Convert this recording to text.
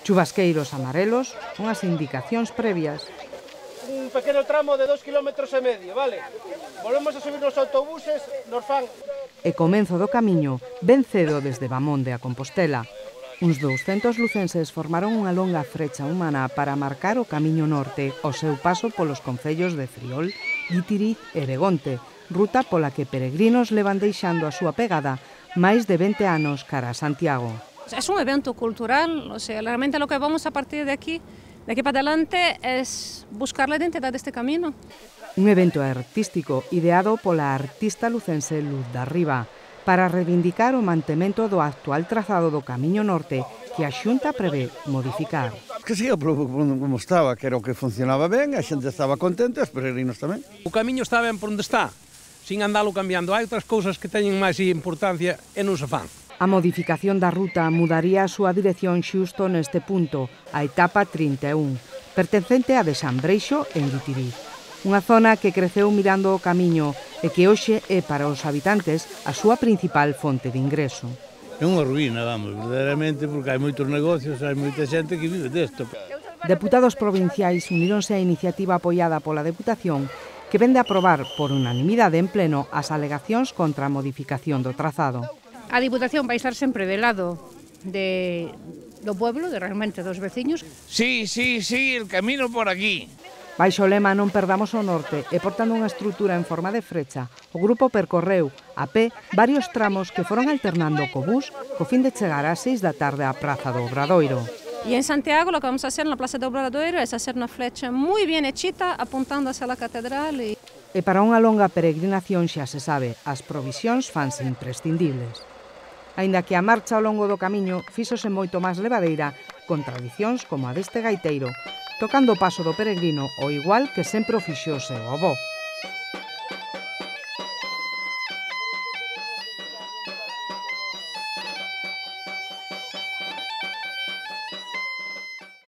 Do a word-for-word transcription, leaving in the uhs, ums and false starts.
Chubasqueiros amarelos, unhas indicacións previas. Un pequeno tramo de dos kilómetros e medio, vale? Volvemos a subir nos autobuses, nos fan... E comenzo do camiño ben cedo desde Bamonde a Compostela. Uns douscentos lucenses formaron unha longa frecha humana para marcar o camiño norte ao seu paso polos concellos de Friol, Guitiriz e Begonte, ruta pola que peregrinos levan deixando a súa pegada máis de vinte anos cara a Santiago. Es un evento cultural, o sea, realmente lo que vamos a partir de aquí, de aquí para adelante, es buscar la identidad de este camino. Un evento artístico ideado pola artista lucense Luz da Riba para reivindicar o mantemento do actual trazado do Camiño Norte que a Xunta prevé modificar. Que siga como estaba, que era o que funcionaba ben, a xente estaba contenta, os peregrinos tamén. O camiño está ben por onde está, sin andalo cambiando. Hai outras cousas que teñen máis importancia e non se fan. A modificación da ruta mudaría a súa dirección xusto neste punto, a etapa trinta e un, pertencente a de San Breixo en Guitiriz. Unha zona que creceu mirando o camiño e que hoxe é para os habitantes a súa principal fonte de ingreso. É unha ruína, vamos, verdadeiramente, porque hai moitos negocios, hai moita xente que vive desto. Deputados provinciais uníronse á iniciativa apoiada pola Deputación que vende a aprobar por unanimidade en pleno as alegacións contra a modificación do trazado. A Diputación vai estar sempre de lado de, do pueblo, de realmente dos veciños. Sí, sí, sí, el camino por aquí. Baixo o lema Non perdamos o norte e portando unha estrutura en forma de frecha, o grupo percorreu a pé varios tramos que foron alternando co bus co fin de chegar ás seis da tarde á Praza do Obradoiro. Y en Santiago lo que vamos a hacer en la Plaza do Obradoiro es hacer una flecha muy bien hechita apuntando hacia la catedral. Y... e para unha longa peregrinación xa se sabe, as provisións fanse imprescindibles. Aínda que a marcha ao longo do camiño fíxose moito máis levadeira con tradicións como a deste gaiteiro, tocando o paso do peregrino o igual que sempre o fixose o avó.